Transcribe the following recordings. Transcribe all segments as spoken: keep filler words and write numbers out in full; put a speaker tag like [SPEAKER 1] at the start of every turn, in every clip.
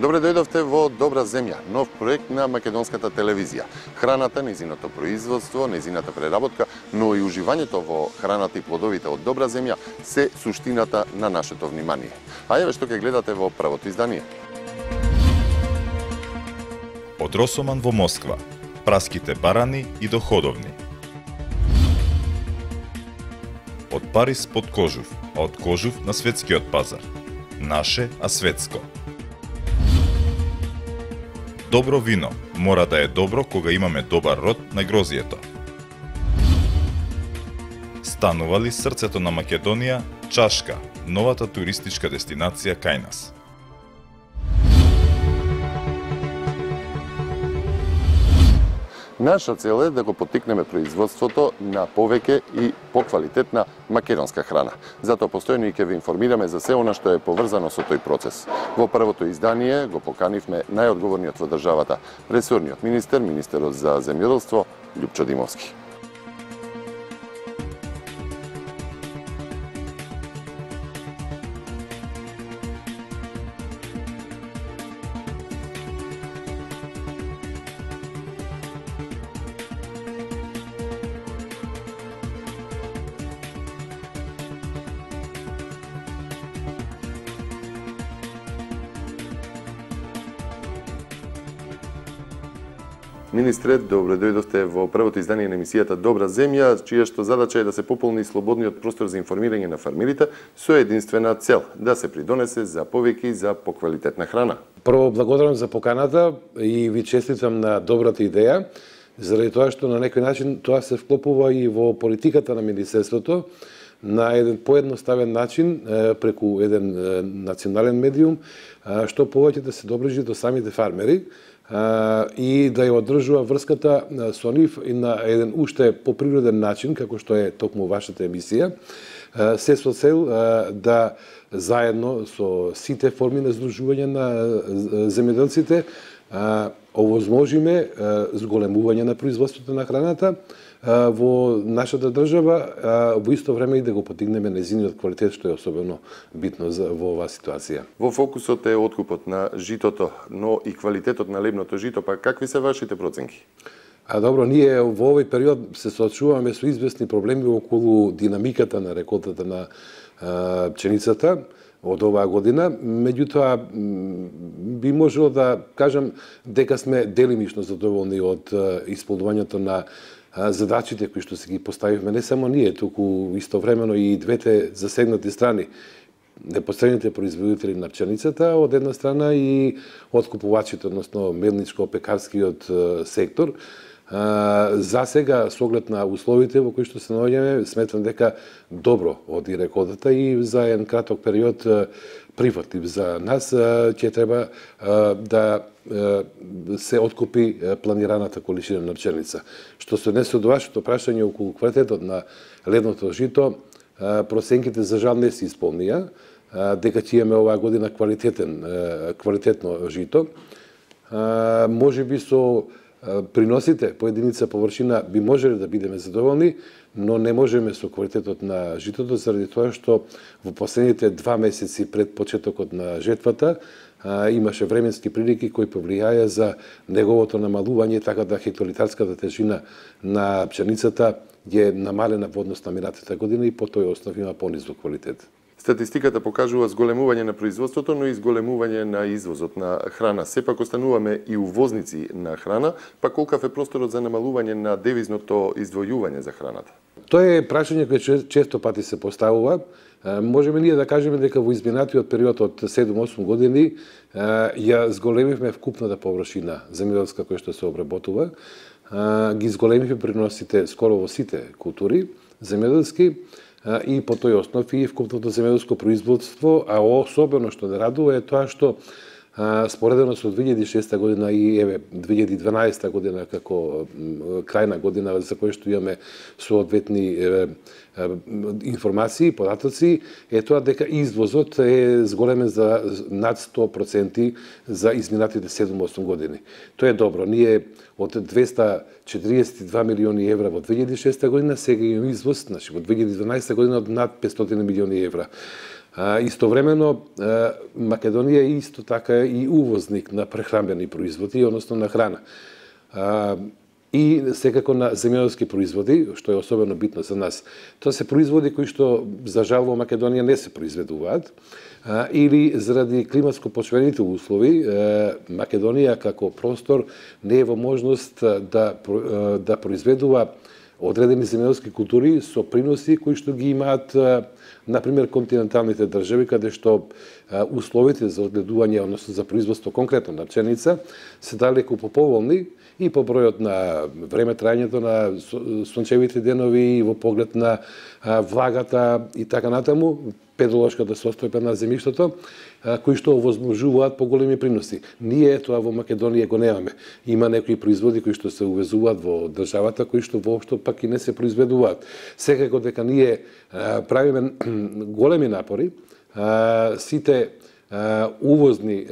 [SPEAKER 1] Добре дојдовте во Добра земја, нов проект на македонската телевизија. Храната, нејзиното производство, нејзината преработка, но и уживањето во храната и плодовите од Добра земја се суштината на нашето внимание. А еве што ќе гледате во првото издание.
[SPEAKER 2] Од Росоман во Москва, праските барани и доходовни. Од Париз под Кожув, а од Кожув на светскиот пазар. Наше, а светско. Добро вино мора да е добро кога имаме добар род на грозието. Станува ли срцето на Македонија, Чашка, новата туристичка дестинација кај нас.
[SPEAKER 1] Наша цел е да го поттикнеме производството на повеќе и поквалитетна македонска храна. Затоа постојано и ќе ве информираме за се она што е поврзано со тој процес. Во првото издание го поканивме најодговорниот во државата, ресорниот министер, министерот за земјоделство Љупчо Димовски. Министре, добро дојдовте во првото издание на емисијата Добра земја, чија што задача е да се пополни слободниот простор за информирање на фармерите со единствена цел да се придонесе за повеќе и за поквалитетна храна.
[SPEAKER 3] Прво благодарам за поканата и ви честитам на добрата идеја, заради тоа што на некој начин тоа се вклопува и во политиката на министерството на еден поедноставен начин преку еден национален медиум, што повеќе да се доближи до самите фармери и да ја одржува врската со нив и на еден уште поприроден начин, како што е токму вашата емисија, се со цел да заедно со сите форми на здружување на земјоделците овозможиме зголемување на производството на храната во нашата држава, во исто време и да го потигнеме нејзиниот квалитет, што е особено битно во оваа ситуација.
[SPEAKER 1] Во фокусот е откупот на житото, но и квалитетот на лебното жито, па какви се вашите проценки?
[SPEAKER 3] А добро, ние во овој период се соочуваме со известни проблеми околу динамиката на реколтата на а, пченицата од оваа година, меѓутоа би можело да кажам дека сме делимично задоволни од исполнувањето на задачите кои што се ги поставивме, не само ние, туку истовремено и двете засегнати страни, непосредните производители на пченицата од една страна и откупувачите, односно мелничко-пекарскиот сектор. За сега, со оглед на условите во кои што се наоѓаме, сметам дека добро оди реколтата и за еден краток период прифатлив за нас ќе треба да се откупи планираната количина на пченица. Што се однесе до вашето прашање околу квалитетот на лебното жито, проценките за жал не се исполнија, дека ќе имаме оваа година квалитетен квалитетно жито. Може би со приносите по единица површина би можеле да бидеме задоволни, но не можеме со квалитетот на житото заради тоа што во последните два месеци пред почетокот на жетвата а, имаше временски прилики кои повлијаја за неговото намалување, така да хектолитарската тежина на пченицата е намалена во однос на минатата година и по тој основ има понизок квалитет.
[SPEAKER 1] Статистиката покажува зголемување на производството, но и зголемување на извозот на храна. Сепак остануваме и увозници на храна, па колкав е просторот за намалување на девизното издвојување за храната?
[SPEAKER 3] Тоа е прашање кое често пати се поставува. Можеме ние да кажеме дека во изминатиот период од седум-осум години ја зголемивме вкупната површина земјоделска која што се обработува, ги зголемивме приносите скоро во сите култури земјоделски, и по тој основ и вкупното земјоделско производство, а особено што не радува е тоа што споредено со две илјади и шеста година и еве две илјади и дванаесета година како крајна година за која што имаме соодветни информации, податоци, е тоа дека извозот е зголемен за над сто проценти за изминатите седум-осум години. Тоа е добро. Ние од двеста четириесет и два милиони евра во две илјади и шеста година, сега имаме извоз, значи во две илјади и дванаесета година од над петстотини милиони евра. А, истовремено, а, Македонија е исто така и увозник на прехранбени производи, односно на храна. А, и секако на земјоделски производи, што е особено битно за нас. Тоа се производи кои што, за жал, во Македонија не се произведуваат, а, или заради климатско-почвените услови, а, Македонија како простор не е во можност да, да произведува одредени земјоделски култури со приноси кои што ги имаат, например, континенталните држави, каде што условите за одгледување, односно за производство конкретно на пченица, се далеку поповолни и по бројот на време трајањето на сончевите денови и во поглед на влагата и така натаму, педолошката состојба на земјиштето, кои што овозможуваат поголеми приноси. Ние тоа во Македонија го немаме. Има некои производи кои што се увезуваат во државата, кои што воопшто пак и не се произведуваат. Секако дека ние правиме големи напори, сите увозни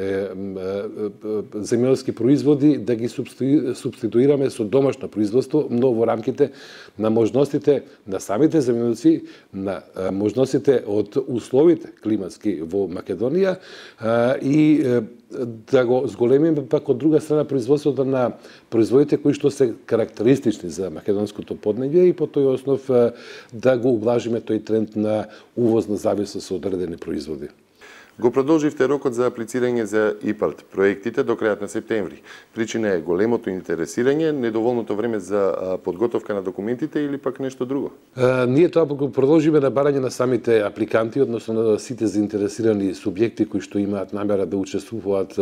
[SPEAKER 3] земјоделски производи да ги субституираме со домашно производство, но во рамките на можностите на самите земјоделци, на можностите од условите климатски во Македонија и да го зголемиме пак од друга страна производството на производите кои што се карактеристични за македонското поднебје и по тој основ да го облажиме тој тренд на увозна зависност од одредени производи.
[SPEAKER 1] Го продолживте рокот за аплицирање за ИПАРД проектите до крајот на септември. Причина е големото интересирање, недоволното време за подготовка на документите или пак нешто друго?
[SPEAKER 3] А, ние тоа го продолжиме на барање на самите апликанти, односно на сите заинтересирани субјекти кои што имаат намера да учествуваат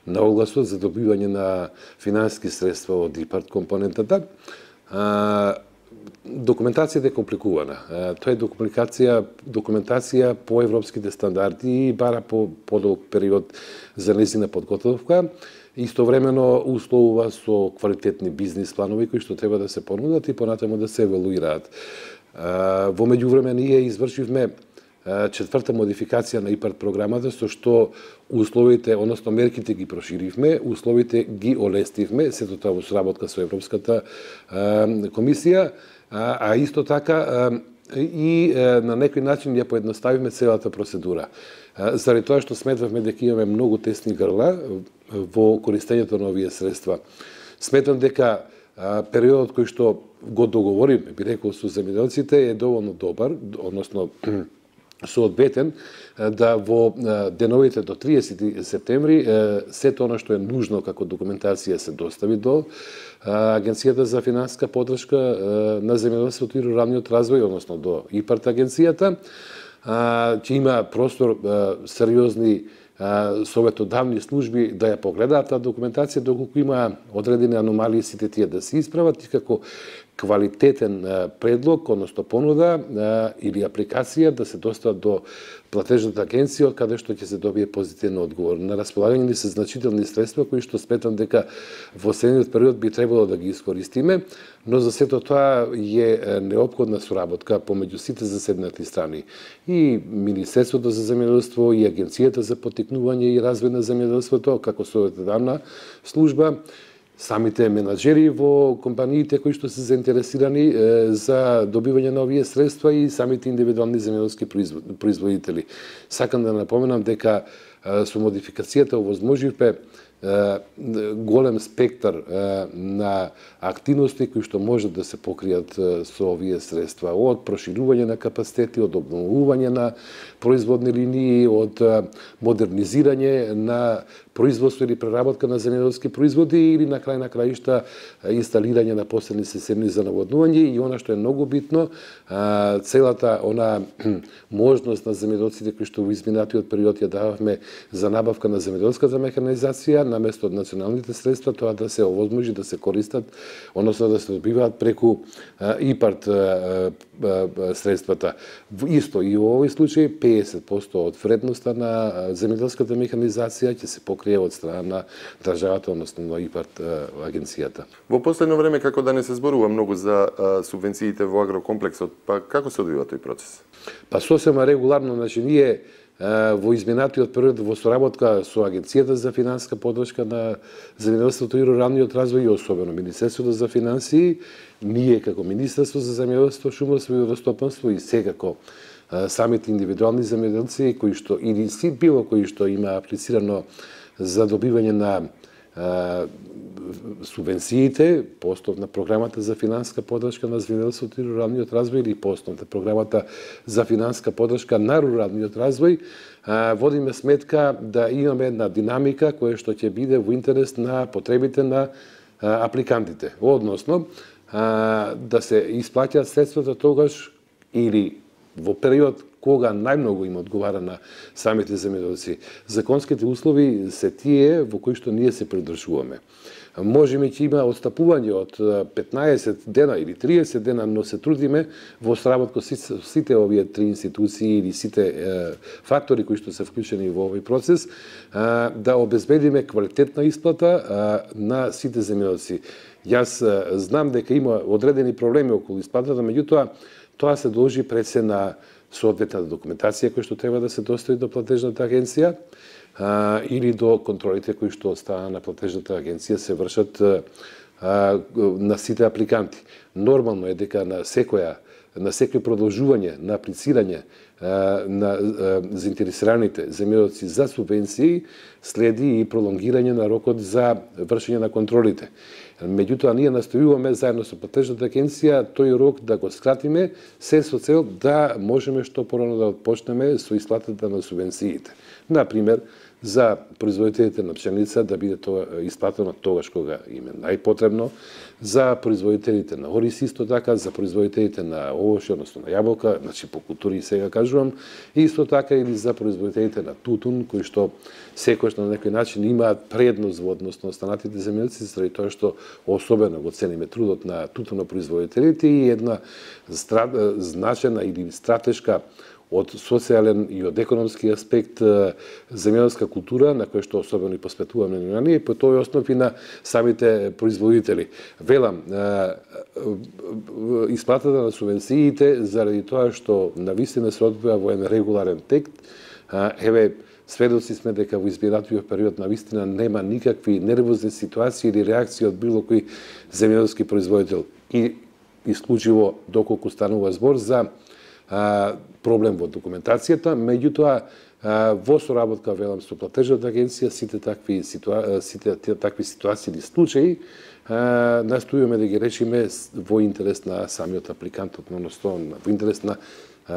[SPEAKER 3] на огласот за добивање на финансиски средства од ИПАРД компонентата. А, Документацијата е компликувана. Тоа е документација, документација по европските стандарди и бара по подолг период за нејзина подготовка. Истовремено условува со квалитетни бизнис планови кои што треба да се понудат и понатаму да се евалуираат. Во меѓувреме ние извршивме четврта модификација на ИПАРД програмата, со што условите, односно мерките ги проширивме, условите ги олестивме, сето тоа во соработка со Европската комисија, а исто така и на некој начин ја поедноставиме целата процедура. Заради тоа што сметавме дека имаме многу тесни грла во користењето на овие средства. Сметам дека периодот кој што го договориме, би рекол, со земјоделците е доволно добар, односно соодветен, да во деновите до триесети септември сето она што е нужно како документација се достави до Агенцијата за финансиска поддршка на земјоделството и руралниот развој, односно до ИПАРД агенцијата, ќе има простор сериозни советодавни служби да ја погледаат таа документација, доколку има одредени аномалии сите тие да се исправат и како квалитетен предлог, односно понуда или апликација да се достават до платежната агенција, од каде што ќе се добие позитивен одговор. На располагање ни се значителни средства кои што сметам дека во следниот период би требало да ги искористиме, но за сето тоа е неопходна соработка помеѓу сите заседнати страни. И Министерството за земјоделство, и Агенцијата за поттикнување и развој на земјоделството, како советодавна служба, самите менаџери во компаниите кои што се заинтересирани е, за добивање на овие средства и самите индивидуални земјоделски производители. Сакам да напоменам дека е, со модификацијата овозможивме голем спектар на активности кои што можат да се покријат со овие средства, од проширување на капацитети, од обновување на производни линии, од модернизирање на производство или преработка на земјоделски производи или на крај на краишта инсталирање на посебни системи за наводнување и она што е многу битно, целата она можност на земјоделците кои што во изминатиот период ја дававме за набавка на земјоделската механизација наместо од националните средства, тоа да се овозможи да се користат, односно да се добиваат преку ИПАРТ средствата. Исто и во овој случај педесет проценти од вредноста на земјоделската механизација ќе се покрие од страна на државата, односно на ИПАРТ агенцијата.
[SPEAKER 1] Во последно време, како да не се зборува многу за субвенциите во агрокомплексот, па како се одвива тој процес?
[SPEAKER 3] Па сосема регуларно, значи ние во изминатиот период во соработка со Агенцијата за финансиска поддршка на земјоделството и руралниот развој и особено Министерството за финансии, ние како Министерство за земјоделство, шумарство и водостопанство и секако самите индивидуални земјоделци кои што или си било кои што има аплицирано за добивање на субвенциите по основ на програмата за финансиска поддршка на земјоделството и руралниот развој или по основ на програмата за финансиска поддршка на руралниот развој, водиме сметка да имаме една динамика која што ќе биде во интерес на потребите на апликантите, односно да се исплаќаат средствата тогаш или во период кога најмногу им одговара на самите земјоделци. Законските услови се тие во кои што ние се придржуваме. Можеме ќе има отстапување од петнаесет дена или триесет дена, но се трудиме во сработка со сите овие три институции или сите е, фактори кои што се вклучени во овој процес, е, да обезбедиме квалитетна исплата е, на сите земјоделци. Јас е, знам дека има одредени проблеми околу исплатата, меѓутоа тоа се должи пред се на соодветната документација која што треба да се достави до платежната агенција а, или до контролите кои што од страна на платежната агенција се вршат а, на сите апликанти. Нормално е дека на секоја на секој продолжување на аплицирање а, на а, заинтересираните земјоделци за субвенции следи и пролонгирање на рокот за вршење на контролите. Меѓутоа, ние настојуваме заедно со платежната агенција тој рок да го скратиме, се со цел да можеме што порано да почнеме со исплатата на субвенциите. Например, за производителите на пшеница да биде тоа исплатено тогаш кога им е најпотребно, за производителите на ориз исто така, за производителите на овошје, односно на јаболка, значи по култури сега кажувам, и исто така или за производителите на тутун, кои што секојаш на некој начин имаат предност во однос на останатите земјоделци, заради тоа што особено го цениме трудот на тутунопроизводителите и една значена или стратешка од социјален и од економски аспект земјоделска култура, на која што особено и посветуваме внимание, и по тој основ и на самите производители. Велам, исплатата на субвенциите, заради тоа што навистина се одвива во еден регуларен тек, еве, сведоци сме дека во изминатиот период навистина нема никакви нервозни ситуации или реакции од било кој земјоделски производител. И исклучиво доколку станува збор за а, проблем во документацијата, меѓутоа во соработка велам со платежната агенција сите такви ситуа... сите такви ситуации или случаи настојуваме да ги решиме во интерес на самиот апликант, односно во интерес на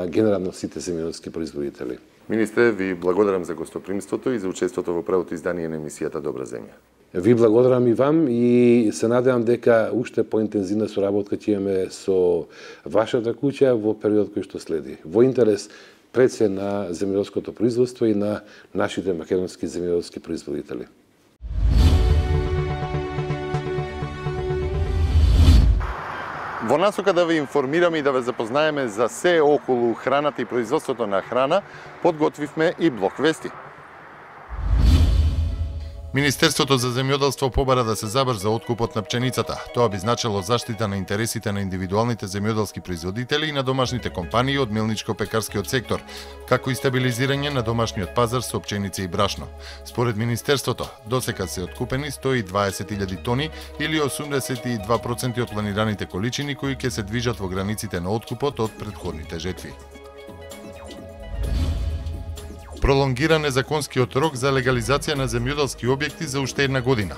[SPEAKER 3] генерално сите земјоделски производители.
[SPEAKER 1] Министре, ви благодарам за гостопримството и за учеството во првото издание на емисијата Добра земја.
[SPEAKER 3] Ви благодарам и вам и се надевам дека уште поинтензивна соработка ќе имаме со вашата куќа во период кој што следи. Во интерес пред се на земјоделското производство и на нашите македонски земјоделски производители.
[SPEAKER 1] Во насока да ве информираме и да ве запознаеме за се околу храната и производството на храна, подготвивме и блок вести.
[SPEAKER 4] Министерството за земјоделство побара да се забрза откупот на пченицата. Тоа би значило заштита на интересите на индивидуалните земјоделски производители и на домашните компании од мелничко-пекарскиот сектор, како и стабилизирање на домашниот пазар со пченица и брашно. Според Министерството, досека се откупени сто и дваесет илјади тони или осумдесет и два проценти од планираните количини кои ќе се движат во границите на откупот од претходните жетви. Пролонгиран е законскиот рок за легализација на земјоделски објекти за уште една година.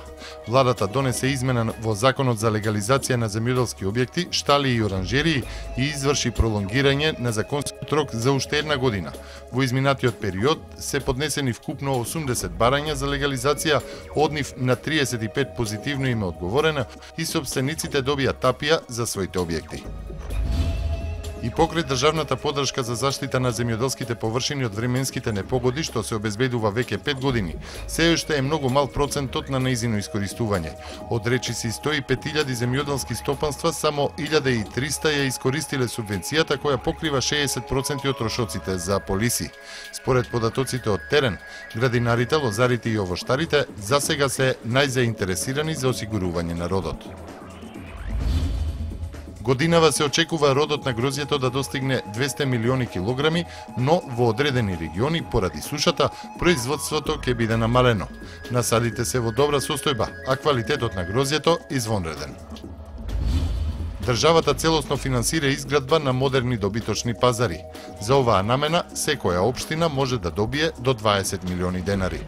[SPEAKER 4] Владата донесе измена во Законот за легализација на земјоделски објекти, штали и оранжерии и изврши пролонгирање на законскиот рок за уште една година. Во изминатиот период се поднесени вкупно осумдесет барања за легализација, од нив на триесет и пет позитивно им е одговорено и сопствениците добија тапија за своите објекти. И покрај државната поддршка за заштита на земјоделските површини од временските непогоди, што се обезбедува веќе пет години, се уште е многу мал процентот на нејзино искористување. Од речиси сто и пет илјади земјоделски стопанства, само илјада и триста ја искористиле субвенцијата која покрива шеесет проценти од трошоците за полиси. Според податоците од терен, градинарите, лозарите и овоштарите засега се најзаинтересирани за осигурување на родот. Годинава се очекува родот на грозјето да достигне двесте милиони килограми, но во одредени региони, поради сушата, производството ќе биде намалено. Насадите се во добра состојба, а квалитетот на грозјето извонреден. Државата целосно финансира изградба на модерни добиточни пазари. За оваа намена, секоја општина може да добие до дваесет милиони денари.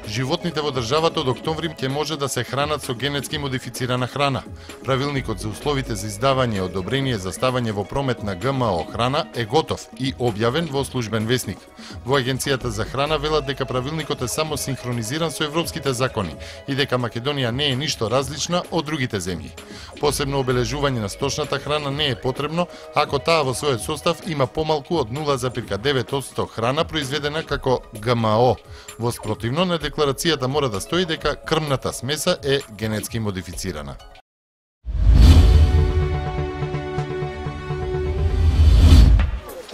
[SPEAKER 4] Животните во државата од октомври ќе може да се хранат со генетски модифицирана храна. Правилникот за условите за издавање и одобрение за ставање во промет на ГМО храна е готов и објавен во службен весник. Во Агенцијата за храна велат дека правилникот е само синхронизиран со европските закони и дека Македонија не е ништо различна од другите земји. Посебно обележување на сточната храна не е потребно ако таа во својот состав има помалку од нула зарез девет одсто храна произведена како ГМО. Во спротивно на декларацијата мора да стои дека крмната смеса е генетски модифицирана.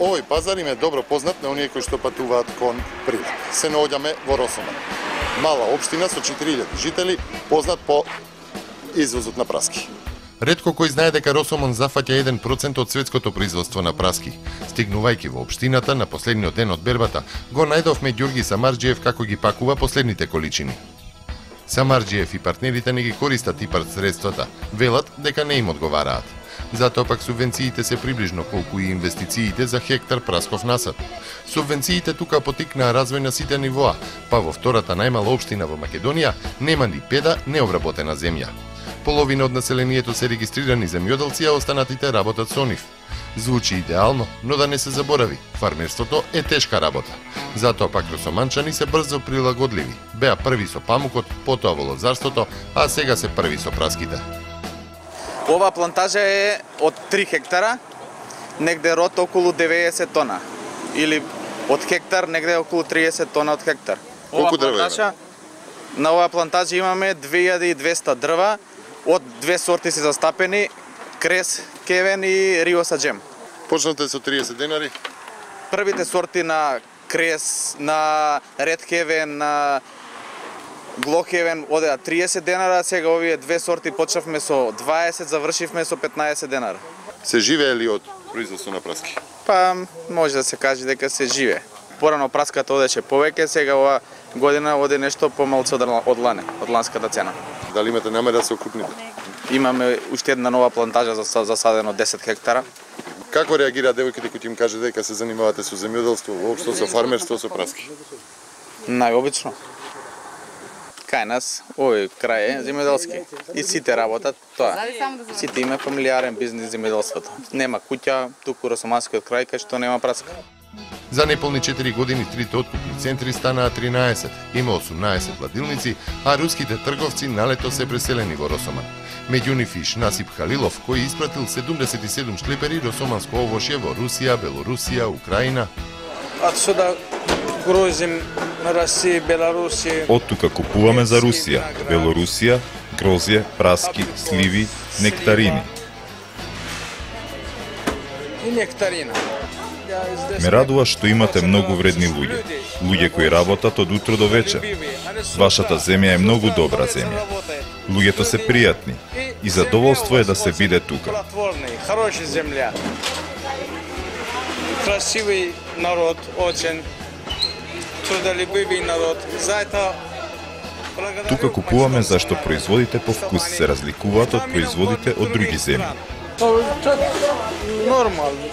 [SPEAKER 1] Овој пазар им е добро познат на оние кои што патуваат кон прилет. Се наоѓаме во Росоман. Мала општина со четири илјади жители, познат по извозот на праски.
[SPEAKER 4] Ретко кој знае дека Росомон зафаќа еден процент од светското производство на праски. Стигнувајќи во општината на последниот ден од бербата, го најдовме Ѓорги Самарџиев како ги пакува последните количини. Самарџиев и партнерите не ги користат ИПАРД средствата, велат дека не им одговараат. Затоа пак субвенциите се приближно колку и инвестициите за хектар прасков насад. Субвенциите тука потикнаа развој на сите нивоа, па во втората најмала општина во Македонија нема ни педа необработена земја. Половина од населението се регистрирани земјоделци, а останатите работат со нив. Звучи идеално, но да не се заборави, фармерството е тешка работа. Затоа пак росоманчани се брзо прилагодливи. Беа први со памукот, потоа во лозарството, а сега се први со праските.
[SPEAKER 5] Ова плантажа е од три хектара, негде род околу деветдесет тона. Или од хектар негде околу триесет тона од хектар.
[SPEAKER 1] Колку дрва има?
[SPEAKER 5] На оваа плантажа имаме две илјади и двесте дрва, од две сорти се застапени, крес, кевен и рио саџем.
[SPEAKER 1] Почнате со триесет денари?
[SPEAKER 5] Првите сорти на крес, на ред кевен, на глохевен одеа триесет денара, сега овие две сорти почнавме со дваесет, завршивме со петнаесет денара.
[SPEAKER 1] Се живее ли од производство на праски?
[SPEAKER 5] Па може да се каже дека се живее. Порано праската одеше повеќе, сега ова година оде нешто помалку од лане, од ланската цена.
[SPEAKER 1] Дали имате намера да се окрупните?
[SPEAKER 5] Имаме уште една нова плантажа за засадено десет хектара.
[SPEAKER 1] Како реагираат девојките кои им каже дека се занимавате со земјоделство, воопшто со фармерство, со праски?
[SPEAKER 5] Најобично. Кај нас, овој крај е земјоделски. И сите работат тоа. Сите има фамилиарен бизнис земјоделството. Нема куќа, туку росоманскиот крај кај што нема праска.
[SPEAKER 4] За неполни четири години трите откупни центри станаа тринаесет, има осумнаесет ладилници, а руските трговци налето се преселени во Росоман. Меѓу нив и Насип Халилов, кој испратил седумдесет и седум шлепери росоманско овошје во Русија, Белорусија, Украина.
[SPEAKER 6] Отсюда грузим Русија, Белорусија.
[SPEAKER 2] Од тука купуваме за Русија, Белорусија, грозје, праски, сливи, нектарини.
[SPEAKER 6] И нектарина.
[SPEAKER 2] Ме радува што имате многу вредни луѓе, луѓе кои работат од утро до вечер. Вашата земја е многу добра земја. Луѓето се пријатни и задоволство е да се биде тука.
[SPEAKER 6] Хороша земја. Красивый народ, очень трудолюбивый народ. Заето
[SPEAKER 2] Тука купуваме зашто производите по вкус се разликуваат од производите од други земји.
[SPEAKER 6] Нормално.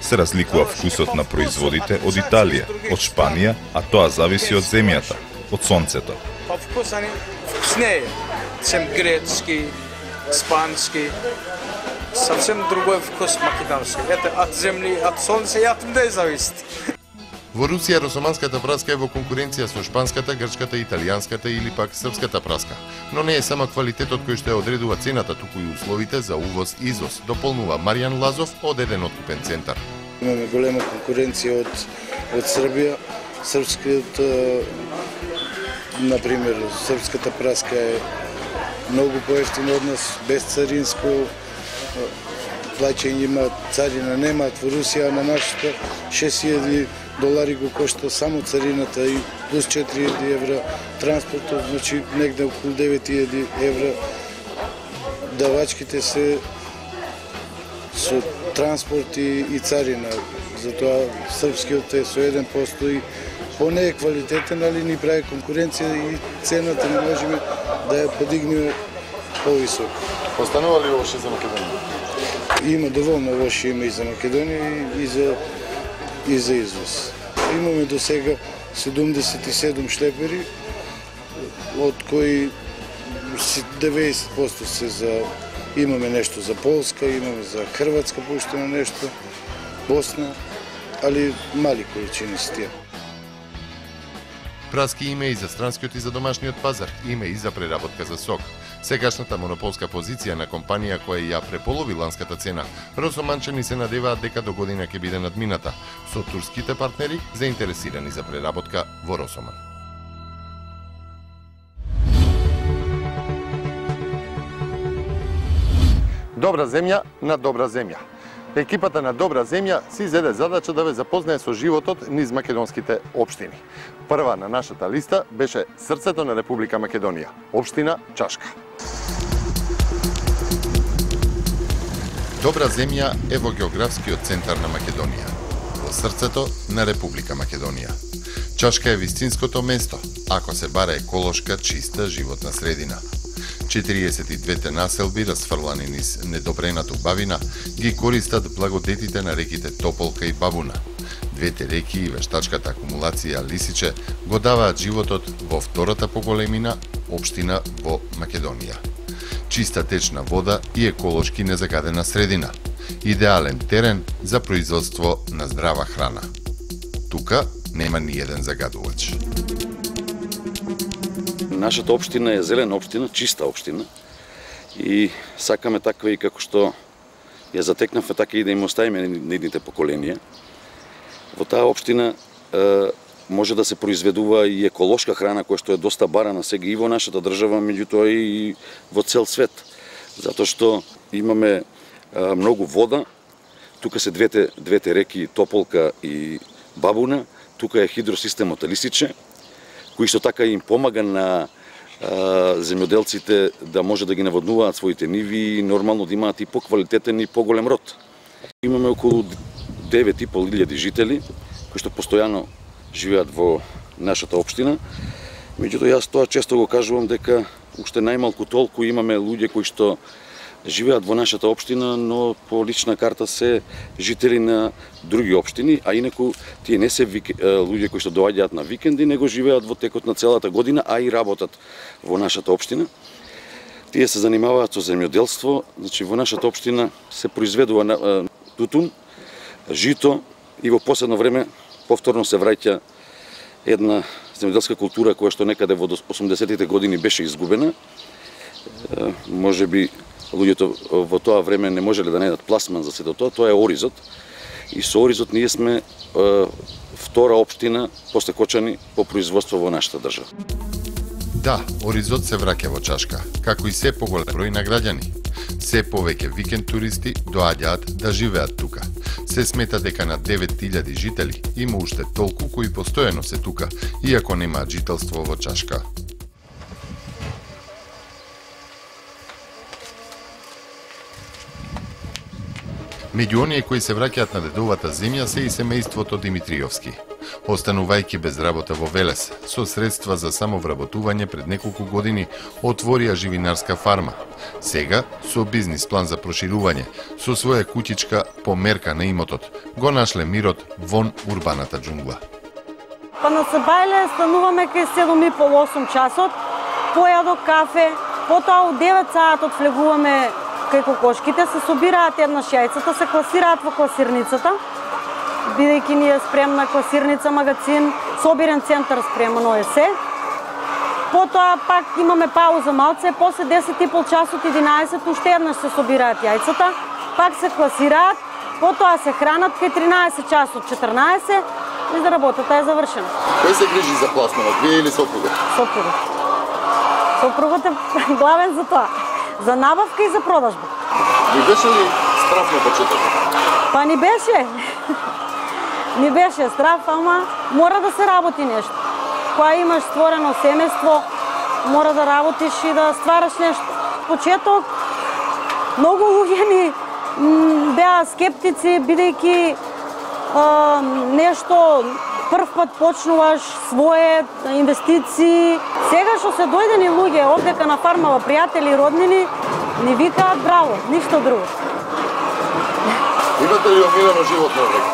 [SPEAKER 2] Се разликува вкусот на производите од Италија, од Шпанија, а тоа зависи од земјата, од сонцето.
[SPEAKER 6] По вкуса ни вкуснее, чем гречки, испански. Совсем другой вкус македонски. Это от земли, от солнца и от людей зависит.
[SPEAKER 4] Во Русија росоманската праска е во конкуренција со шпанската, грчката, италијанската или пак српската праска. Но не е само квалитетот кој што ја одредува цената, туку и условите за увоз и извоз, дополнува Маријан Лазов од еден откупен центар.
[SPEAKER 7] Имаме голема конкуренција од од Србија. Српскиот, например, српската праска е многу поевтина од нас, без царинско плаќање, има царина, немаат во Русија, на нашата шест илјади долари го кошта само царината и плюс четири илјади евра транспортот, значи негде околу девет илјади евра. Давачките се со транспорт и, и царина, затоа српскиот е со еден посто и поне е квалитетен, али ни прави конкуренција и цената не можеме да ја подигнеме повисоко.
[SPEAKER 4] Останува ли лоши за Македонија?
[SPEAKER 7] Има доволно лоши има и за Македонија и за и за извоз. Имаме до сега седумдесет и седум шлепери, од кои деветдесет посто се за имаме нешто за Полска, имаме за Хрватска пуштено нешто, Босна, али мали количини се тие.
[SPEAKER 4] Праски има и за странскиот и за домашниот пазар, има и за преработка за сок. Сегашната монополска позиција на компанија која ја преполови ланската цена, росоманчани се надеваат дека до година ќе биде надмината, со турските партнери заинтересирани за преработка во Росоман.
[SPEAKER 1] Добра земја на добра земја. Екипата на Добра земја си зеде задача да ве запознае со животот низ македонските општини. Прва на нашата листа беше срцето на Република Македонија, општина Чашка.
[SPEAKER 4] Добра земја е во географскиот центар на Македонија, во срцето на Република Македонија. Чашка е вистинското место, ако се бара еколошка, чиста животна средина. четириесет и двете населби, расфрлани низ недобрената убавина, ги користат благодетите на реките Тополка и Бабуна. Двете реки и вештачката акумулација Лисиче го даваат животот во втората по големина општина во Македонија. Чиста течна вода и еколошки незагадена средина. Идеален терен за производство на здрава храна. Тука нема ни еден загадувач.
[SPEAKER 8] Нашата општина е зелена општина, чиста општина и сакаме таква и како што ја затекнавме, така и да им оставиме нидните поколенија. Во таа општина е, може да се произведува и еколошка храна која што е доста барана сега и во нашата држава, меѓутоа и во цел свет. Затоа што имаме е, многу вода, тука се двете, двете реки Тополка и Бабуна, тука е хидросистемот Лисиче, кој што така им помага на а, земјоделците да може да ги наводнуваат своите ниви и нормално да имаат и поквалитетен и поголем род. Имаме околу девет и пол илјади жители кои што постојано живеат во нашата општина. Меѓутоа јас тоа често го кажувам дека уште најмалку толку имаме луѓе кои што живеат во нашата општина, но по лична карта се жители на други општини, а инаку тие не се вик... луѓе кои што доаѓаат на викенди, него живеат во текот на целата година, а и работат во нашата општина. Тие се занимаваат со земјоделство, значи во нашата општина се произведува тутун, жито и во последно време повторно се враќа една земјоделска култура која што некаде во осумдесетите години беше изгубена. Може би луѓето во тоа време не можеле да најдат пласман за сето тоа, тоа е оризот. И со оризот ние сме е, втора општина после Кочани по производство во нашата држава.
[SPEAKER 4] Да, оризот се враќа во Чашка, како и се поголем број на граѓани. Се повеќе викенд туристи доаѓаат да живеат тука. Се смета дека на девет илјади жители има уште толку кои постојано се тука, иако немаат жителство во Чашка. Меѓу оние кои се враќаат на дедовата земја се и семејството Димитриовски. Останувајќи без работа во Велес, со средства за самовработување пред неколку години отворија живинарска фарма. Сега, со бизнис план за проширување, со своја куќичка померка на имотот, го нашле мирот вон урбаната џунгла.
[SPEAKER 9] Па на Сабајле стануваме кај седум и пол осум часот, појадок кафе, потоа у девет саатот влегуваме кај кокошките, се собираат една шајцата, се класираат во класирницата бидејќи ни е спремна класирница магазин, собирен центар спремно е се. Потоа пак имаме пауза малце, после десет и пол часот, единаесет, уште еднаш се собираат јајцата, пак се класираат, потоа се хранат кај тринаесет часот, четрнаесет, и за работата е завршена.
[SPEAKER 1] Кој се грижи за пласманот, вие или сопругот?
[SPEAKER 9] Сопругот. Сопругот е главен за тоа. За набавка и за продажба.
[SPEAKER 1] Ви беше ли страф на почетокот?
[SPEAKER 9] Па ни беше. Ни беше страф, ама мора да се работи нешто. Кога имаш створено семејство, мора да работиш и да ствараш нешто. Почеток, многу луѓе ни беа скептици, бидејќи нешто прв пат почнуваш свое инвестиции. Сега што се дојдени луѓе овдека на фармава, пријатели и роднини, ни викаат браво, ништо друго.
[SPEAKER 1] Имате ли омилено животно овдека?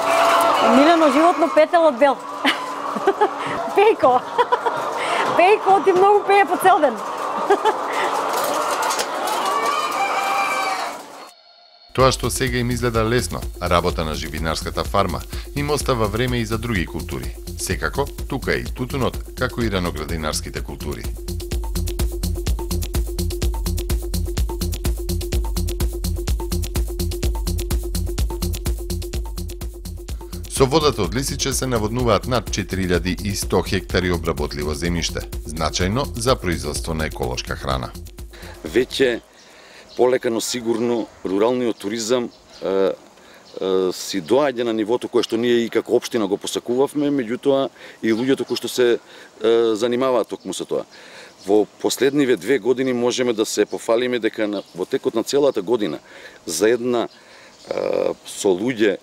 [SPEAKER 9] Омилено животно петел од бел. Пејко. Пејко ти многу пее по цел ден.
[SPEAKER 4] Тоа што сега им изгледа лесно, работа на живинарската фарма, им остава време и за други култури. Секако, тука е и тутунот, како и раноградинарските култури. Со водата од Лисиче се наводнуваат над четири илјади и сто хектари обработливо земјиште, значајно за производство на еколошка храна.
[SPEAKER 8] Веќе полека, но сигурно руралниот туризам е, е, си доаѓа на нивото кое што ние и како општина го посакувавме, меѓутоа и луѓето кои што се е, занимаваат токму со тоа. Во последниве две години можеме да се пофалиме дека на, во текот на целата година за една е, со луѓе е,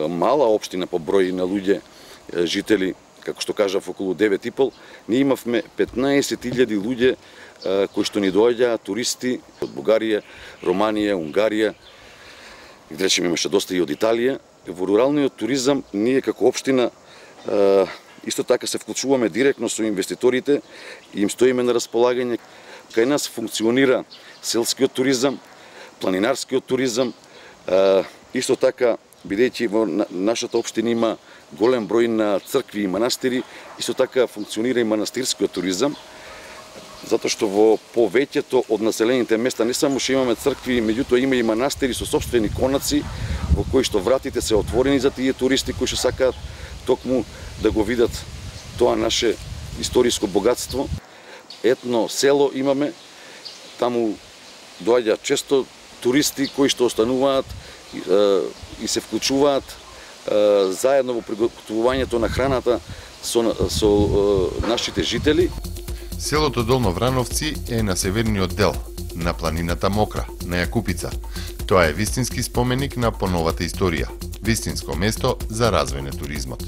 [SPEAKER 8] мала општина по број на луѓе е, жители, како што кажав, околу девет и пол, ние имавме петнаесет илјади луѓе кои што ни доаѓаат туристи од Бугарија, Романија, Унгарија, и да речеме имаше доста и од Италија. Во руралниот туризам ние како општина исто така се вклучуваме директно со инвеститорите и им стоиме на располагање. Кај нас функционира селскиот туризам, планинарскиот туризам, исто така бидејќи во нашата општина има голем број на цркви и манастири, исто така функционира и манастирскиот туризам, затоа што во повеќето од населените места не само што имаме цркви, меѓутоа има и манастири со сопствени конаци во кои што вратите се отворени за тие туристи кои што сакаат токму да го видат тоа наше историско богатство. Етно село имаме, таму доаѓаат често туристи кои што остануваат и се вклучуваат заедно во приготвувањето на храната со, со нашите жители.
[SPEAKER 4] Селото Долно Врановци е на северниот дел, на планината Мокра, на Јакупица. Тоа е вистински споменик на поновата историја, вистинско место за развој на туризмот.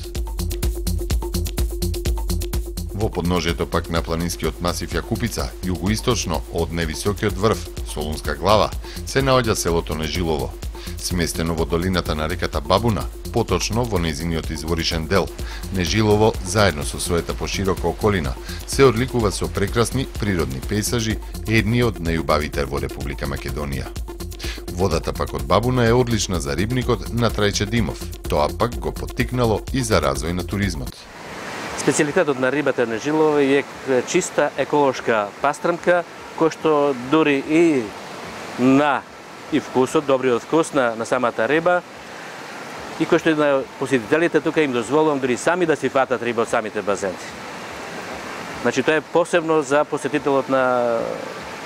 [SPEAKER 4] Во подножието пак на планинскиот масив Јакупица, југоисточно од највисокиот врв, Солунска глава, се наоѓа селото Нежилово. Сместено во долината на реката Бабуна, поточно во нејзиниот изворишен дел, Нежилово, заедно со својата поширока околина, се одликува со прекрасни природни пејсажи, едни од најубавите во Република Македонија. Водата пак од Бабуна е одлична за рибникот на Трајче Димов, тоа пак го поттикнало и за развој на туризмот.
[SPEAKER 10] Специјалитетот на рибата Нежилово е чиста еколошка пастрамка, која што дури и на и вкусот, добриот вкус на, на самата риба, и кој што на посетителите тука им дозволувам дури сами да си фатат риба од самите базенти. Значи тоа е посебно за посетителот на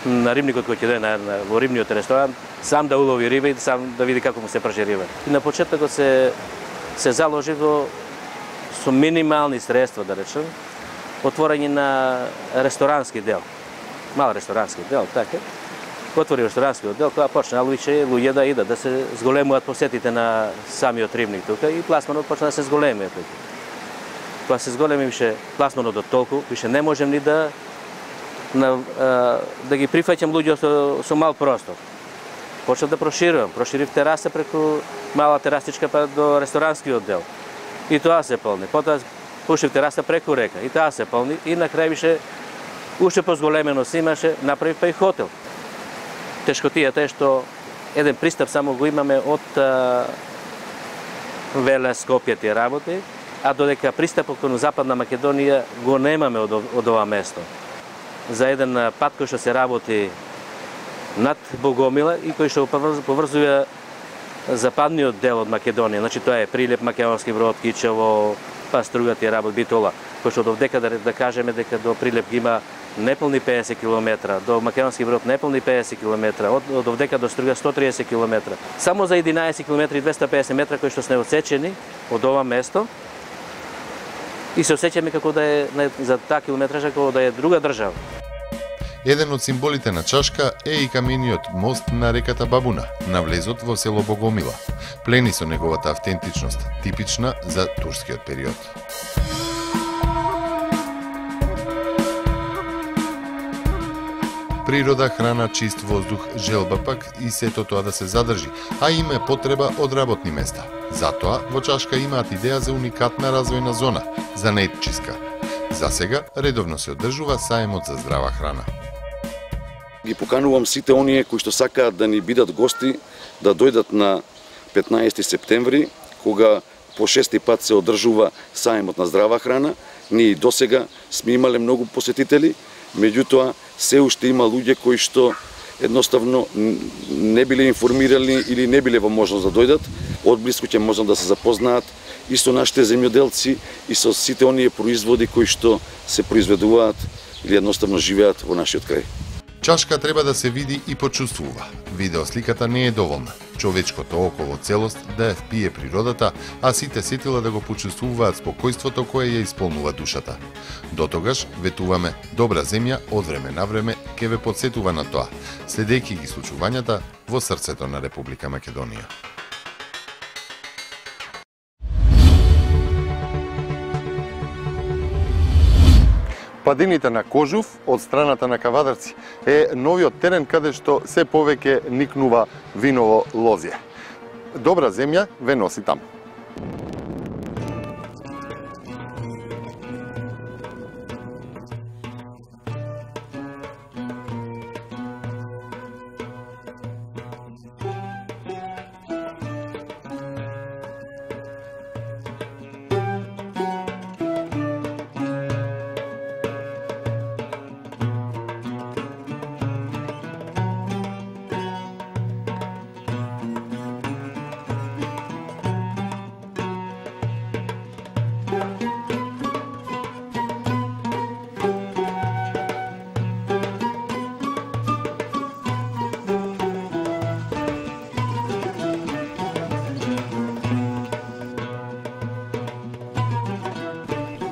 [SPEAKER 10] на рибникот кој ќе дојде на, на во рибниот ресторан, сам да улови риба и сам да види како му се праши риба. И на почетокот се се заложи во со минимални средства, да речем, отворање на ресторански дел. Мал ресторански дел, така. Отвори ресторанскиот дел, кога почна луѓе луѓе да идат, да се зголемуваат посетите на самиот рибник тука и пласманот почна да се зголеми тука. Кога се зголеми више пласманот до толку, више не можем ни да на, а, да ги прифаќам луѓе со, со мал простор. Почнав да проширувам, проширив тераса преку мала терасичка па до ресторанскиот дел. И тоа се полни. Потоа пуштив тераса преку река и тоа се полни и на крај више уште позголемено се имаше, направив па и хотел. Тешкотијата е што еден пристап само го имаме од Велес, Скопје ти работи, а додека пристапот кон Западна Македонија го немаме од, од ова место. За еден пат кој што се работи над Богомила и кој што поврзува западниот дел од Македонија. Значи тоа е Прилеп, Македонски Брод, Кичево, па Струга ти работи, Битола. Кој што довдека да, да кажеме дека до Прилеп ги има неполни педесет километра, до Македонски Брод неполни педесет километра, од, од овдека до Струга сто триесет километра. Само за единаесет километри и двесте педесет метра кои што сме отсечени од ова место и се осеќаме како да е за таа километража како да е друга држава.
[SPEAKER 4] Еден од символите на Чашка е и камениот мост на реката Бабуна, на влезот во село Богомила. Плени со неговата автентичност, типична за турскиот период. Природа, храна, чист воздух, желба пак и сето тоа да се задржи, а има потреба од работни места. Затоа во Чашка имаат идеја за уникатна развојна зона, за неетчиска. За сега редовно се одржува саемот за здрава храна.
[SPEAKER 8] Ги поканувам сите оние кои што сакаат да ни бидат гости да дојдат на петнаесети септември, кога по шести пат се одржува саемот на здрава храна. Ние досега сме имале многу посетители, меѓутоа се уште има луѓе кои што едноставно не биле информирани или не биле во можност да дојдат. Одблиску ќе можат да се запознаат и со нашите земјоделци и со сите оние производи кои што се произведуваат или едноставно живеат во нашиот крај.
[SPEAKER 4] Чашка треба да се види и почувствува. Видеосликата не е доволна. Човечкото око во целост да ја впие природата, а сите сетила да го почувствуваат спокојството кое ја исполнува душата. Дотогаш, ветуваме, добра земја од време на време ќе ве подсетува на тоа, следејќи ги случувањата во срцето на Република Македонија.
[SPEAKER 1] Падините на Кожув од страната на Кавадарци е новиот терен каде што се повеќе никнува виново лозје. Добра земја ве носи таму.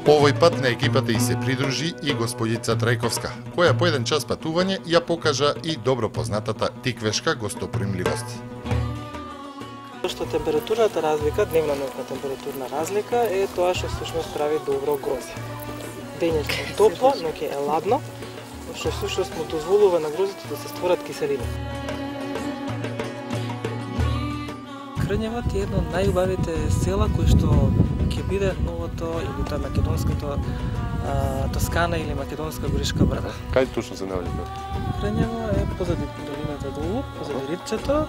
[SPEAKER 4] Овој пат на екипата и се придружи и господица Трајковска, која по еден час патување ја покажа и добро познатата тиквешка гостопримливост.
[SPEAKER 11] Што температурната разлика, дневна ноќна температурна разлика е тоа што всушност прави добро грозе. Дењето е топло, ноќе е ладно, што всушност му дозволува на грозите да се створат киселина. Крњевот е едно од најубавите села кои што ќе биде новото или тоа македонското а, Тоскана или македонска горишка брда.
[SPEAKER 1] Кај точно се наоѓа?
[SPEAKER 11] Крњево е позади долината долу, позади ридчето.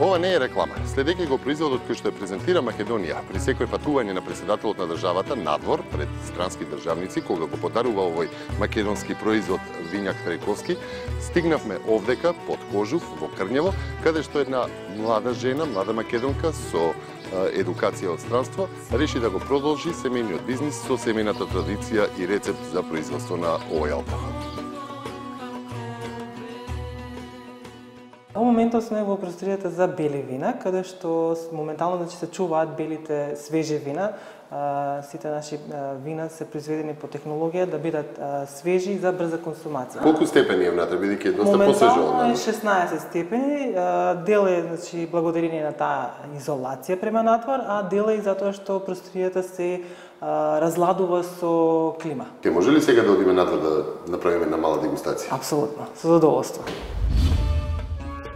[SPEAKER 1] Ова не е реклама. Следејќи го производот кој што ја презентира Македонија при секој патување на председателот на државата надвор пред странски државници кога го подарува овој македонски производ вињак Трајковски, стигнавме овдека под Кожув во Крњево, каде што една млада жена, млада македонка со едукација од странство реши да го продолжи семејниот бизнис со семејната традиција и рецепт за производство на овој алкохол.
[SPEAKER 11] Во моментот сме во просторијата за бели вина, каде што моментално значи, се чуваат белите свежи вина. А, сите наши а, вина се произведени по технологија да бидат а, свежи за брза консумација.
[SPEAKER 1] Колку степени е внатре, бидејќи е доста посвежо?
[SPEAKER 11] Моментално е шеснаесет степени. А, дел е значи, благодарение на таа изолација према надвор, а дел е и затоа што просторијата се а, разладува со клима.
[SPEAKER 1] Ке може ли сега да одиме надвор да направиме една мала дегустација?
[SPEAKER 11] Апсолутно, со задоволство.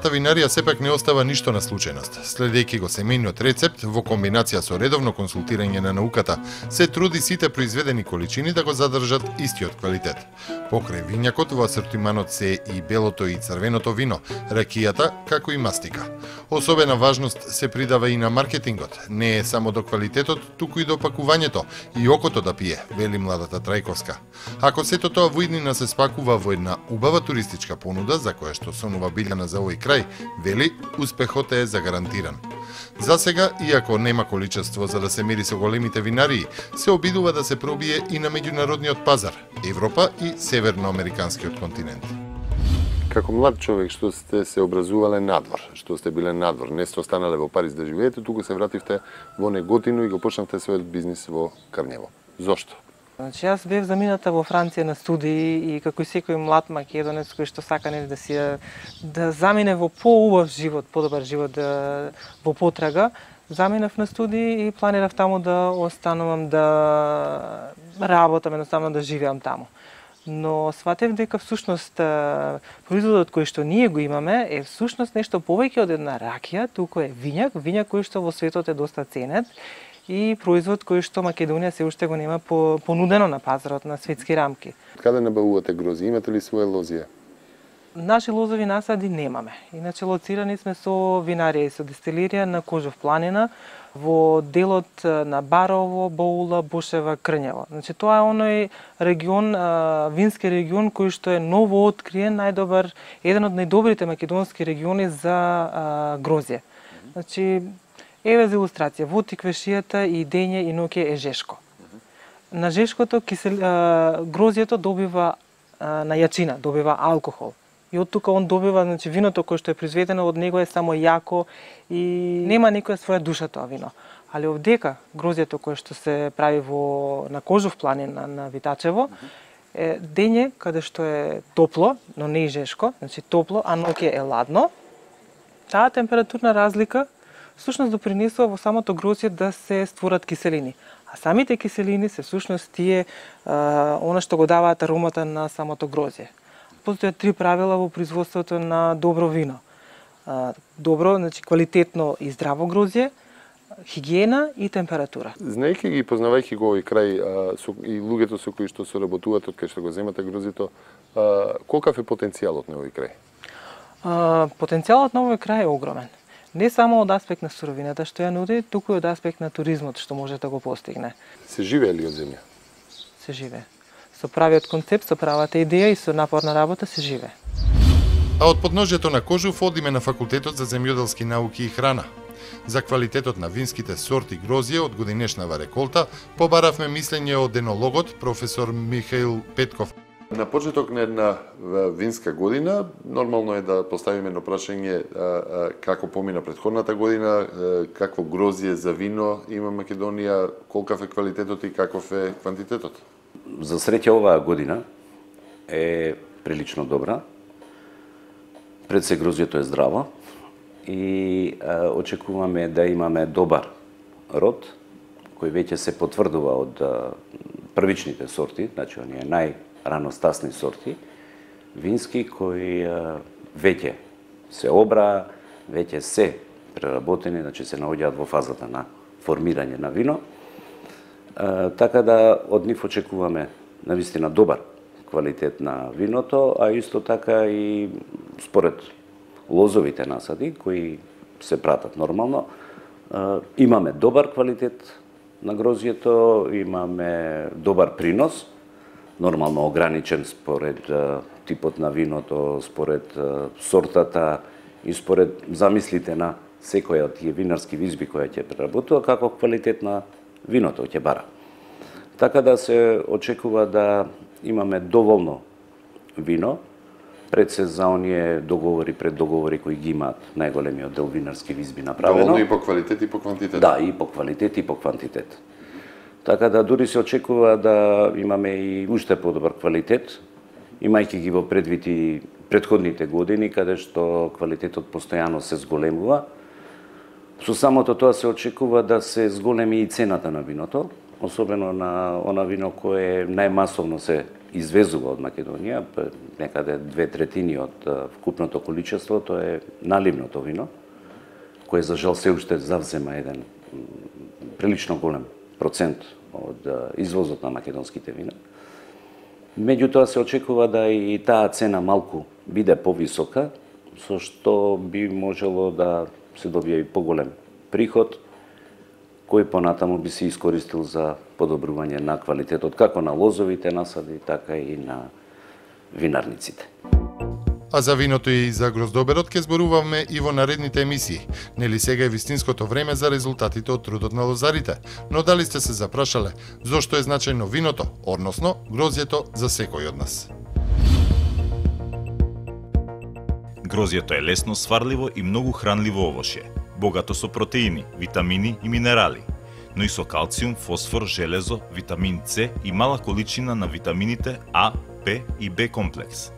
[SPEAKER 4] самата винарија сепак не остава ништо на случајност. Следејќи го семејниот рецепт во комбинација со редовно консултирање на науката, се труди сите произведени количини да го задржат истиот квалитет. Покрај винјакот во асортиманот се и белото и црвеното вино, ракијата, како и мастика. Особена важност се придава и на маркетингот. Не е само до квалитетот, туку и до пакувањето и окото да пие, вели младата Трајковска. Ако сето тоа во иднина се спакува во една убава туристичка понуда, за која што сонува Билјана за овој крај, вели, успехот е загарантиран. За сега, иако нема количество за да се мери со големите винарии, се обидува да се пробие и на меѓународниот пазар, Европа и северноамериканскиот континент.
[SPEAKER 1] Како млад човек што сте се образувале надвор, што сте биле надвор, не сте останале во Париз да живеете, туку се вративте во Неготино и го почнавте својот бизнис во Крњево. Зошто?
[SPEAKER 11] Значи, јас бев замината во Франција на студии и како и секој млад македонец кој што сака не да си да замине во поубав живот, подобар живот да, во потрага, заминав на студии и планирав таму да останувам да работам, едноставно да живеам таму. Но сватев дека всушност производот кој што ние го имаме е всушност нешто повеќе од една ракија, туку е вињак, вињак кој што во светот е доста ценет и производ кој што Македонија се уште го нема по, понудено на пазарот на светски рамки.
[SPEAKER 1] Каде набавувате грози? Имате ли своја лозија?
[SPEAKER 11] Наши лозови насади немаме. Иначе лоцирани сме со винарија и со дестилерија на Кожов планина во делот на Барово, Боула, Бошева, Крњево. Значи тоа е оној регион, вински регион кој што е ново откриен, најдобар, еден од најдобрите македонски региони за грозје. Значи еве за илустрација, во Тиквешијата и Дење и Ноќе е жешко. На жешкото кисел, грозјето добива на јачина, добива алкохол. И од тука он добива, значи виното кое што е произведено од него е само јако и нема некоја своја душа тоа вино. Али овдека грозјето кое што се прави во на Кожов планина на Витачево е Дење каде што е топло, но не и жешко, значи топло, а Ноќе е ладно. Таа температурна разлика всушност допринесува во самото грозје да се створат киселини. А самите киселини се всушност тие а, она што го даваат аромата на самото грозје. Постојат три правила во производството на добро вино. А, добро, значи квалитетно и здраво грозје, хигиена и температура.
[SPEAKER 1] Знаејќи ги, познавајќи го овој крај а, со, и луѓето со кои што соработуваат од кај што го земате грозјето, а, колкав е потенцијалот на овој крај?
[SPEAKER 11] А, потенцијалот на овој крај е огромен. Не само од аспект на суровината што ја нуди, туку и од аспект на туризмот што може да го постигне.
[SPEAKER 1] Се живее ли од земја?
[SPEAKER 11] Се живее. Со правиот концепт, со правата идеја и со напорна работа се живее.
[SPEAKER 4] А од подножјето на Кожув одиме на Факултетот за земјоделски науки и храна. За квалитетот на винските сорти грозје од годинешнава реколта побаравме мислење од енологот професор Михаил Петков.
[SPEAKER 1] На почеток на една винска година, нормално е да поставиме едно прашање како помина претходната година, какво грозје за вино има Македонија, колкав е квалитетот и каков е квантитетот?
[SPEAKER 8] За среќа оваа година е прилично добра. Пред се грозјето е здраво и а, очекуваме да имаме добар род кој веќе се потврдува од а, првичните сорти, значи оние најраностасни сорти вински кои а, веќе се обра, веќе се преработени, значи се наоѓаат во фазата на формирање на вино. А, така да од нив очекуваме навистина добар квалитет на виното, а исто така и според лозовите насади кои се пратат нормално, а, имаме добар квалитет на грозјето, имаме добар принос, нормално ограничен според а, типот на виното, според а, сортата и според замислите на секоја од тие винарски визби која ќе преработува, како квалитет на виното ќе бара. Така да се очекува да имаме доволно вино, пред се за оние договори, пред договори кои ги имаат најголемиот дел винарски визби направено.
[SPEAKER 1] Доволно и по квалитет и по квантитет.
[SPEAKER 8] Да, и по квалитет и по квантитет. Така да дури се очекува да имаме и уште подобар квалитет, имајќи ги во предвид и претходните години, каде што квалитетот постојано се зголемува. Со самото тоа се очекува да се зголеми и цената на виното,
[SPEAKER 12] особено на она вино кое најмасовно се извезува од Македонија, некаде две третини од вкупното количество, тоа е наливното вино, кое за жал се уште завзема еден прилично голем процент од извозот на македонските вина. Меѓутоа се очекува да и таа цена малку биде повисока, со што би можело да се добие и поголем приход, кој понатаму би се искористил за подобрување на квалитетот како на лозовите насади, така и на винарниците.
[SPEAKER 4] А за виното и за гроздоберот ќе зборуваме и во наредните емисии. Нели сега е вистинското време за резултатите од трудот на лозарите, но дали сте се запрашале зошто е значајно виното, односно грозјето за секој од нас?
[SPEAKER 2] Грозјето е лесно сварливо и многу хранливо овошје, богато со протеини, витамини и минерали, но и со калциум, фосфор, железо, витамин С и мала количина на витамините А, П и Б комплекс.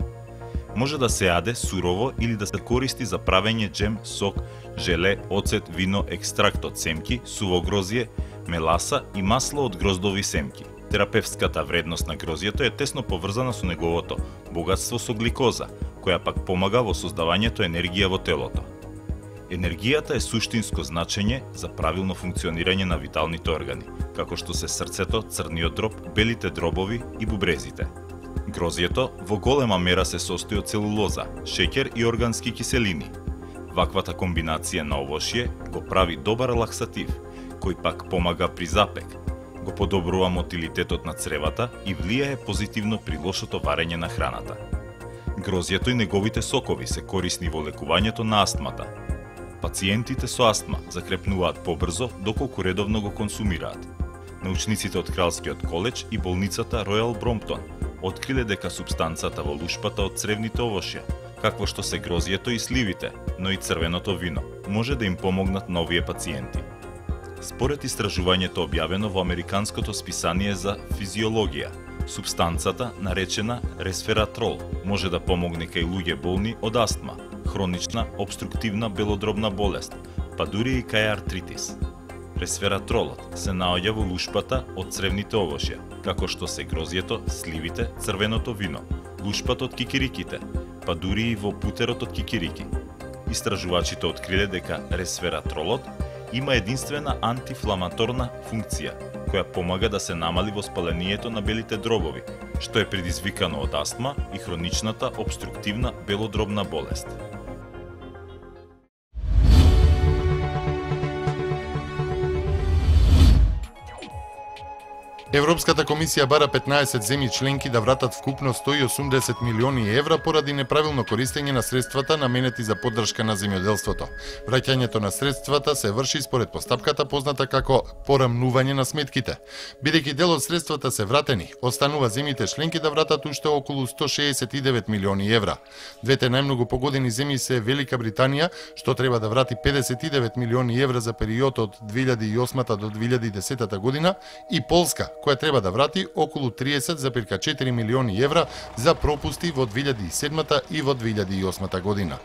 [SPEAKER 2] Може да се јаде сурово или да се користи за правење джем, сок, желе, оцет, вино, екстракт од семки, суво грозје, меласа и масло од гроздови семки. Терапевската вредност на грозјето е тесно поврзана со неговото богатство со гликоза, која пак помага во создавањето енергија во телото. Енергијата е суштинско значење за правилно функционирање на виталните органи, како што се срцето, црниот дроб, белите дробови и бубрезите. Грозјето во голема мера се состои од целулоза, шеќер и органски киселини. Ваквата комбинација на овошје го прави добар лаксатив, кој пак помага при запек, го подобрува мотилитетот на цревата и влијае позитивно при лошото варење на храната. Грозјето и неговите сокови се корисни во лекувањето на астмата. Пациентите со астма закрепнуваат побрзо доколку редовно го консумираат. Научниците од Кралскиот коледж и болницата Ројал Бромптон откриле дека супстанцата во лушпата од цревните овошја, какво што се грозјето и сливите, но и црвеното вино, може да им помогнат на овие пациенти. Според истражувањето објавено во Американското списание за физиологија, супстанцата, наречена ресвератрол, може да помогне кај луѓе болни од астма, хронична обструктивна белодробна болест, па дури и кај артритис. Ресвератролот се наоѓа во лушпата од цревните овошја, како што се грозјето, сливите, црвеното вино, лушпата од кикириките, па дури и во путерот од кикирики. Истражувачите откриле дека ресвератролот има единствена антифламаторна функција, која помага да се намали воспалението на белите дробови, што е предизвикано од астма и хроничната обструктивна белодробна болест.
[SPEAKER 4] Европската комисија бара петнаесет земји членки да вратат вкупно сто и осумдесет милиони евра поради неправилно користење на средствата наменети за поддршка на земјоделството. Враќањето на средствата се врши според постапката позната како порамнување на сметките. Бидејќи дел од средствата се вратени, останува земјите членки да вратат уште околу сто шеесет и девет милиони евра. Двете најмногу погодени земји се Велика Британија, што треба да врати педесет и девет милиони евра за период од две илјади и осма до две илјади и десета година, и Полска, која треба да врати околу триесет зарез четири милиони евра за пропусти во две илјади и седма и во две илјади и осма година.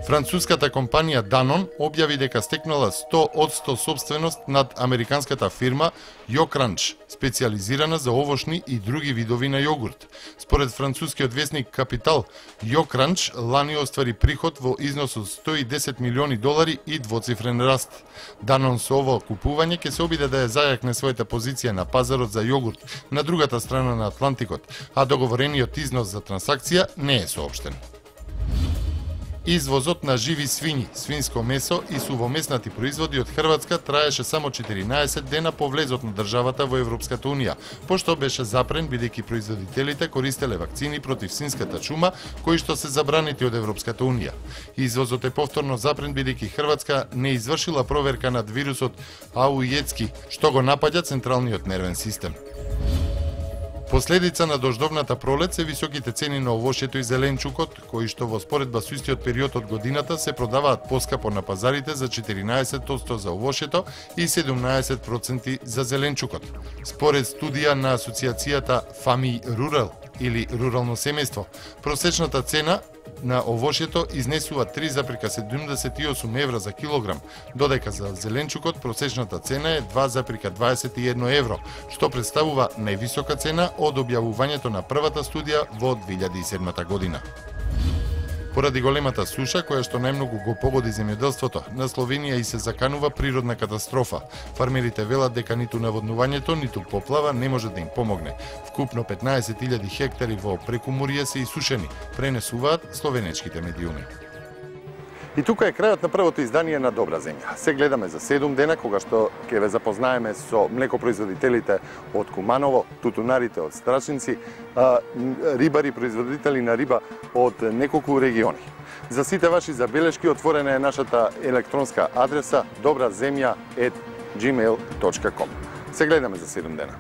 [SPEAKER 4] Француската компанија Danone објави дека стекнала сто одсто собственост над американската фирма Йокранч, специализирана за овошни и други видови на јогурт. Според францускиот весник Капитал, Йокранч лани оствари приход во износ од сто и десет милиони долари и двоцифрен раст. Danone со ово купување ќе се обиде да ја зајакне својата позиција на пазарот за јогурт на другата страна на Атлантикот, а договорениот износ за трансакција не е соопштен. Извозот на живи свињи, свинско месо и сувомеснати производи од Хрватска траеше само четиринаесет дена по влезот на државата во Европската унија, пошто беше запрен бидејќи производителите користеле вакцини против свинската чума, кои што се забранети од Европската унија. Извозот е повторно запрен бидејќи Хрватска не извршила проверка над вирусот Аујецки, што го напаѓа централниот нервен систем. Последица на дождовната пролет се високите цени на овошјето и зеленчукот, кои што во споредба со истиот период од годината се продаваат поскапо на пазарите за четиринаесет проценти за овошјето и седумнаесет проценти за зеленчукот. Според студија на асоциацијата Фами Рурал или рурално семејство, просечната цена на овошјето изнесува три зарез седумдесет и осум евра за килограм, додека за зеленчукот просечната цена е два зарез дваесет и едно евро, што представува највисока цена од објавувањето на првата студија во две илјади и седма година. Поради големата суша, која што најмногу го погоди земјоделството, на Словенија и се заканува природна катастрофа. Фармерите велат дека ниту наводнувањето, ниту поплава не може да им помогне. Вкупно петнаесет илјади хектари во Прекумурје се исушени, пренесуваат словенечките медиуми.
[SPEAKER 1] И тука е крајот на првото издание на Добра земја. Се гледаме за седум дена, кога што ќе ве запознаеме со млекопроизводителите од Куманово, тутунарите од Страчинци, рибари, производители на риба од неколку региони. За сите ваши забелешки отворена е нашата електронска адреса добраземја ет џимеил точка ком. Се гледаме за седум дена.